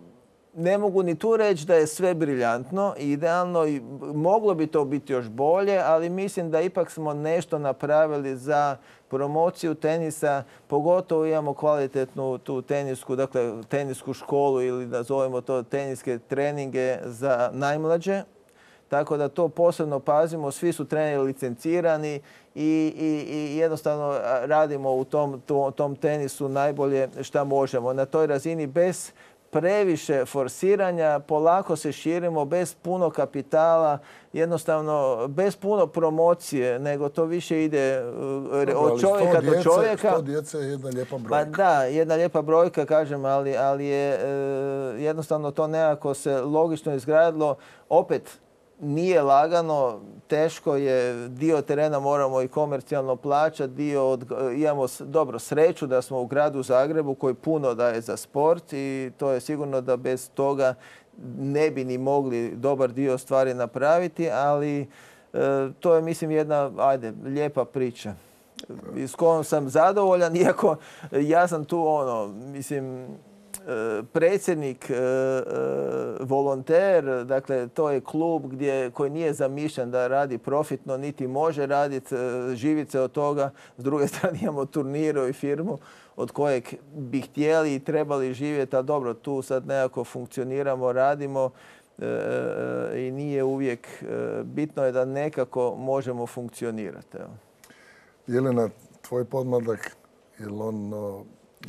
ne mogu ni tu reći da je sve briljantno i idealno i moglo bi to biti još bolje, ali mislim da ipak smo nešto napravili za promociju tenisa, pogotovo imamo kvalitetnu tu tenisku školu ili nazovemo to teniske treninge za najmlađe. Tako da to posebno pazimo, svi su treneri licencirani i jednostavno radimo u tom tenisu najbolje šta možemo. Na toj razini bez previše forsiranja, polako se širimo, bez puno kapitala, jednostavno bez puno promocije, nego to više ide od čovjeka do čovjeka. 100 djece je jedna lijepa brojka. Pa da, jedna lijepa brojka, kažem, ali je jednostavno to nekako se logično izgradilo. Opet, nije lagano, teško je, dio terena moramo i komercijalno plaćati, imamo dobro sreću da smo u gradu Zagrebu koji puno daje za sport i to je sigurno da bez toga ne bi ni mogli dobar dio stvari napraviti, ali to je mislim jedna lijepa priča s kojom sam zadovoljan, iako ja sam tu predsjednik, volonter, dakle to je klub koji nije zamišljen da radi profitno, niti može raditi, živit se od toga. S druge strane imamo turniru i firmu od kojeg bi htjeli i trebali živjeti, ali dobro, tu sad nekako funkcioniramo, radimo i nije uvijek, bitno je da nekako možemo funkcionirati. Evo. Jelena, tvoj podmladak, je li on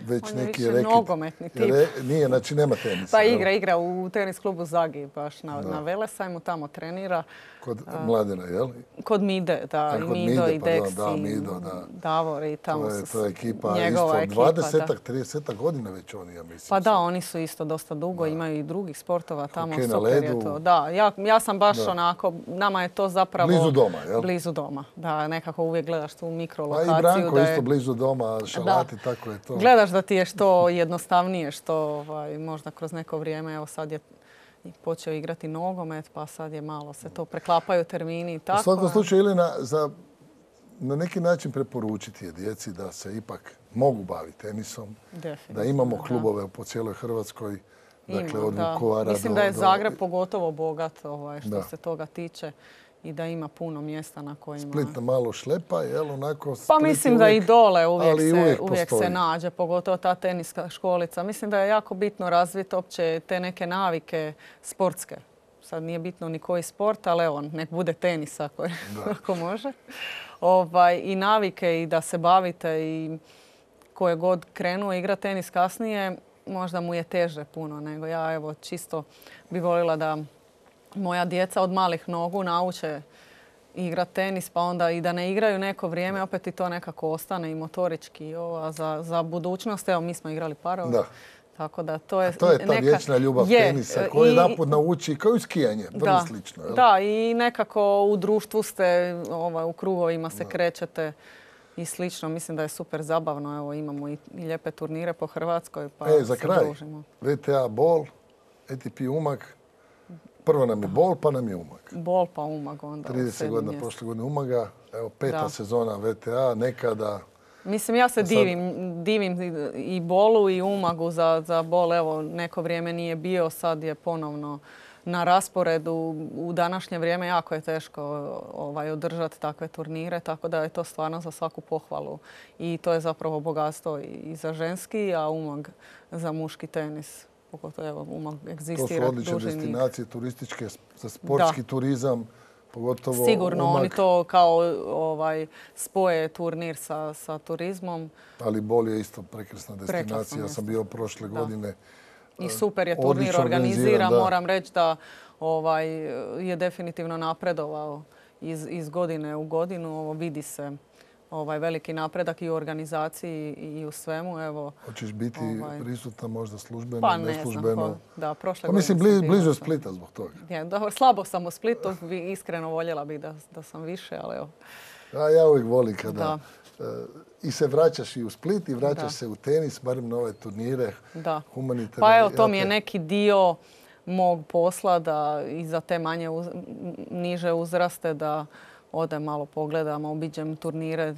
već On je neki više reket? nogometni tip. Nije, znači nema tenisa. Pa jel? igra u tenis klubu Zagi, baš na Velesajmu, tamo trenira. Kod Mladena, jel? Kod Mide, da, i kod Mido, Mide, i pardon, Deksi, da, Mido, da. Davor i tamo su To je ekipa njegova isto, ekipa. 20-ak, 30-ak godina već oni, ja mislim. Pa da, oni su isto dosta dugo, imaju i drugih sportova tamo, Hokej na super je ledu. to. Da, ja sam baš onako, nama je to zapravo... Blizu doma, jel? Blizu doma, da, nekako uvijek gledaš tu Pa mikrolokaciju. i Branko da je, isto blizu doma, Šalati, tako je to. gledaš da ti je što jednostavnije, što možda kroz neko vrijeme, evo sad je počeo igrati nogomet, pa sad je malo se to preklapaju termini i tako. U svakom slučaju, Ilina, na neki način preporučiti je djeci da se ipak mogu baviti tenisom, da imamo klubove po cijeloj Hrvatskoj, dakle od Vukovara Mislim da je Zagreb pogotovo bogat što se toga tiče i da ima puno mjesta na kojima... Split na malo šlepa, jel, onako... Pa mislim da i dole uvijek postoji. se nađe, pogotovo ta teniska školica. Mislim da je jako bitno razviti opće te neke navike sportske. Sad nije bitno ni koji sport, ali evo, nek bude tenis ako može. I navike i da se bavite i koje god krenuo igrati tenis kasnije, možda mu je teže puno nego ja. Evo, čisto bi voljela da moja djeca od malih nogu nauče igrati tenis, pa onda i da ne igraju neko vrijeme, opet i to nekako ostane i motorički. A za budućnost, evo, mi smo igrali parove. Da. Tako da to je ta vječna ljubav tenisa koju jedanput nauči, kao i skijanje, vrlo slično. Jel? Da, i nekako u društvu ste, u krugovima se krećete i slično. Mislim da je super zabavno. Evo, imamo i lijepe turnire po Hrvatskoj, pa za se kraj, družimo. VTA Bol, ATP Umag, prvo nam je Bol, pa nam je Umag. Bol pa Umag onda. 30 godina prošle godine Umaga, evo 5. sezona VTA, nekada... Mislim, ja se divim i Bolu i Umagu za Bol. Evo, neko vrijeme nije bio, sad je ponovno na rasporedu. U današnje vrijeme jako je teško održati takve turnire, tako da je to stvarno za svaku pohvalu. I to je zapravo bogatstvo i za ženski, a Umag za muški tenis. Pogotovo, evo, Umag egzistira. To su odlične destinacije turističke za sportski turizam. Pogotovo sigurno, Umag. oni to kao spoje turnir sa turizmom. Ali Bol je isto prekrasna destinacija. Ja sam bio prošle godine. I super je turnir organiziran. Moram reći da je definitivno napredovao iz godine u godinu. Vidi se veliki napredak i u organizaciji i u svemu. Evo, hoćeš biti prisutna možda službeno, pa neslužbeno? Da, prošle godine mislim, blizu Splita zbog toga. Slabo sam u Splitu, iskreno voljela bih da sam više, ali evo. Ja uvijek volim kada i se vraćaš i u Split i vraćaš se u tenis, barem na ove turnire humanitarne. Pa evo, to mi je neki dio mog posla da i za te niže uzraste da odem malo pogledam, obiđem turnire.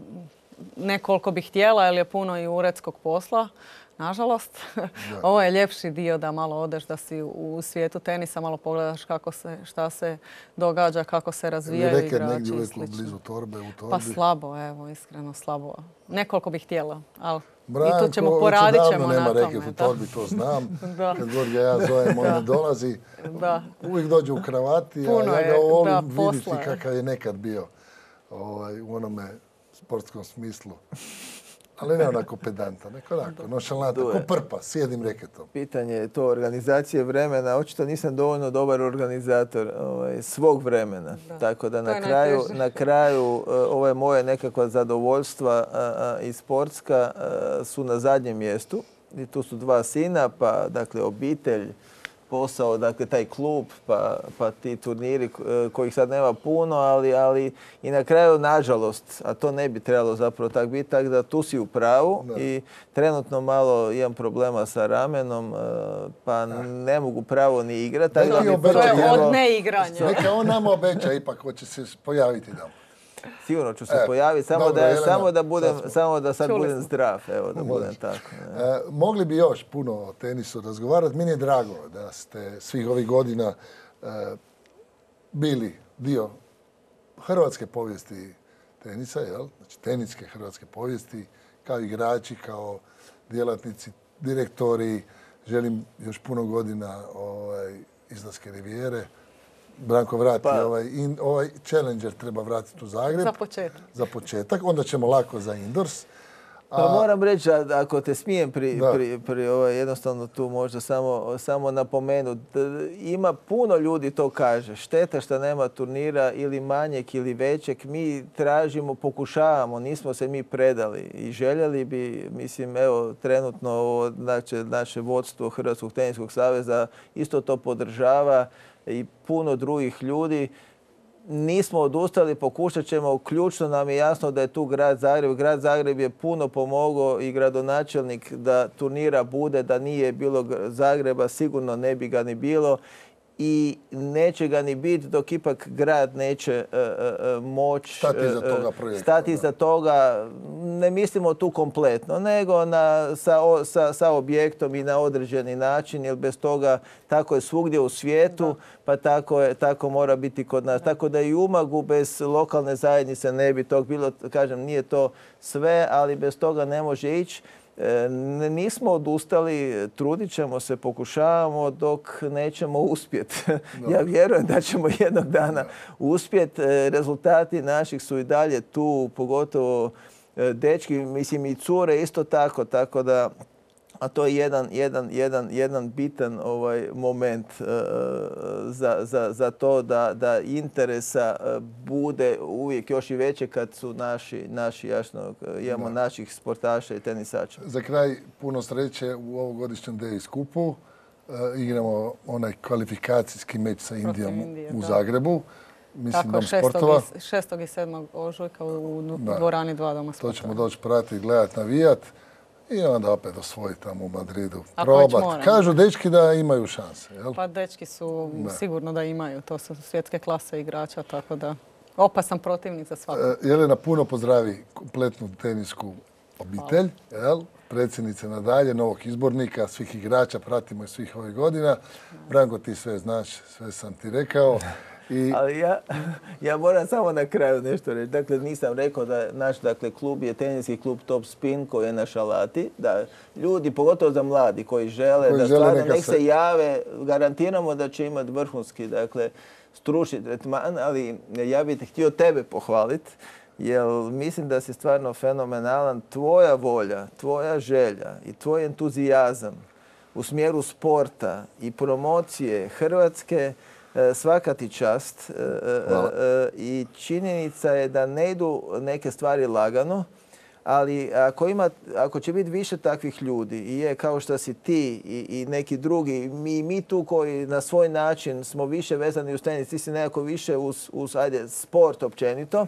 Ne koliko bih htjela, jer je puno i uredskog posla, nažalost. Ovo je ljepši dio da malo odeš, da si u svijetu tenisa, malo pogledaš šta se događa, kako se razvijaju igrači i slično. Negdje uvijek blizu torbe, u torbi. Pa slabo, evo, iskreno slabo. Nekoliko bih htjela, ali i tu ćemo, poradit ćemo na tome. Nema reket u torbi, to znam. Kad god ga ja zovem, on ne dolazi. Uvijek dođe u kravati, a ja ga volim vidjeti kakav je nekad bio u onome sportskom smislu. Ali ne onako pedanta, neko onako, nošalanta, ko prpa, sjedim reketom. Pitanje je to organizacije vremena. Očito nisam dovoljno dobar organizator svog vremena. Tako da na kraju ove moje nekakva zadovoljstva i sportska su na zadnjem mjestu. I tu su 2 sina, pa dakle obitelj, posao, dakle taj klub, pa ti turniri kojih sad nema puno, ali i na kraju, nažalost, a to ne bi trebalo zapravo tako biti, tako da tu si u pravu i trenutno malo imam problema sa ramenom, pa ne mogu pravo ni igrati. To je od neigranja. Neka on nama obeća, ipak hoće se pojaviti nam. Sigurno ću se pojaviti, samo da sad budem zdrav, evo, da budem tako. Mogli bi još puno o tenisu razgovarati. Meni je drago da ste svih ovih godina bili dio hrvatske povijesti tenisa, znači teniske hrvatske povijesti, kao igrači, kao djelatnici, direktori. Želim još puno godina izlaske Rivijere. Branko vrati ovaj Challenger treba vratiti u Zagreb. Za početak. Za početak. Onda ćemo lako za indoors. Pa moram reći, ako te smijem jednostavno tu možda samo napomenuti, ima puno ljudi to kaže, šteta što nema turnira ili manjeg ili većeg, mi tražimo, pokušavamo, nismo se mi predali i željeli bi, mislim, evo, trenutno naše vodstvo Hrvatskog teniskog saveza isto to podržava i puno drugih ljudi. Nismo odustali, pokušat ćemo. Ključno nam je jasno da je tu grad Zagreb. Grad Zagreb je puno pomogao i gradonačelnik da turnira bude, da nije bilo Zagreba, sigurno ne bi ga ni bilo. I neće ga ni biti dok ipak grad neće moći stati iza toga. Ne mislimo tu kompletno, nego sa objektom i na određeni način, jer bez toga tako je svugdje u svijetu, pa tako mora biti kod nas. Tako da i u Umagu bez lokalne zajednice ne bi tog bilo, kažem, nije to sve, ali bez toga ne može ići. Nismo odustali, trudit ćemo se, pokušavamo dok nećemo uspjeti. Ja vjerujem da ćemo jednog dana uspjeti. Rezultati naših su i dalje tu, pogotovo dečki, mislim i cure isto tako, tako da a to je jedan bitan moment za to da interesa bude uvijek još i veće kad su naši jasno, imamo naših sportaša i tenisača. Za kraj puno sreće u ovogodišnjem Davis Cupu. Igramo onaj kvalifikacijski meč sa Indijom u Zagrebu. Mislim, tako, 6. i 7. ožujka u dvorani 2 Doma sportova. To ćemo doći pratiti, gledati, navijati. I onda opet osvojiti tamo u Madridu. Probat. Kažu dečki da imaju šanse. Jel? Pa dečki su sigurno da imaju. To su svjetske klase igrača, tako da opasan protivnik za svakog. Jelena puno pozdravi kompletnu tenisku obitelj. Jel? Predsjednice nadalje, novog izbornika, svih igrača, pratimo i svih ovih godina. Branko, ti sve znaš, sve sam ti rekao. Ali ja moram samo na kraju nešto reći. Dakle, nisam rekao da naš klub je teniski klub Top Spin koji je na Šalati. Da ljudi, pogotovo za mladi koji žele, da stvarno nek se jave. Garantiramo da će imati vrhunski, stručni tretman, ali ja bih htio tebe pohvaliti. Jer mislim da si stvarno fenomenalan. Tvoja volja, tvoja želja i tvoj entuzijazam u smjeru sporta i promocije Hrvatske, svaka ti čast. I činjenica je da ne idu neke stvari lagano, ali ako će biti više takvih ljudi i je kao što si ti i neki drugi, mi tu koji na svoj način smo više vezani uz tenis, ti si nekako više uz sport općenito,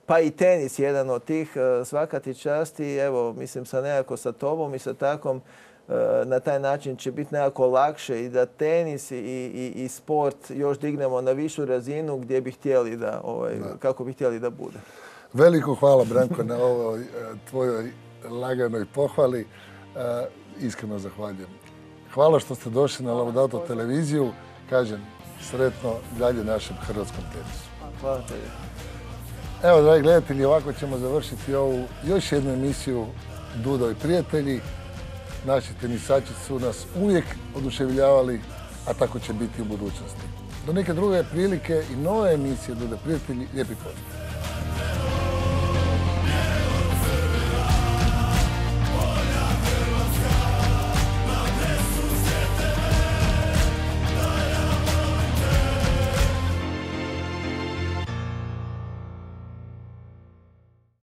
pa i tenis jedan od tih, svaka ti čast i evo, mislim nekako sa tobom i sa takom na taj način će biti nekako lakše i da tenis i sport još dignemo na višu razinu gdje bi htjeli kako bi htjeli da bude. Veliko hvala, Branko, na ovoj tvojoj laganoj pohvali. Iskreno zahvaljujem. Hvala što ste došli na Laudato televiziju. Kažem, sretno dalje našem hrvatskom tenisu. Hvala tebi. Evo, dragi gledatelji, ovako ćemo završiti ovu još jednu emisiju Dudo i prijatelji. Naši tenisači su nas uvijek oduševljavali, a tako će biti u budućnosti. Do neke druge prilike i nove emisije Dudo i prijatelji. Lijepi pozdrav.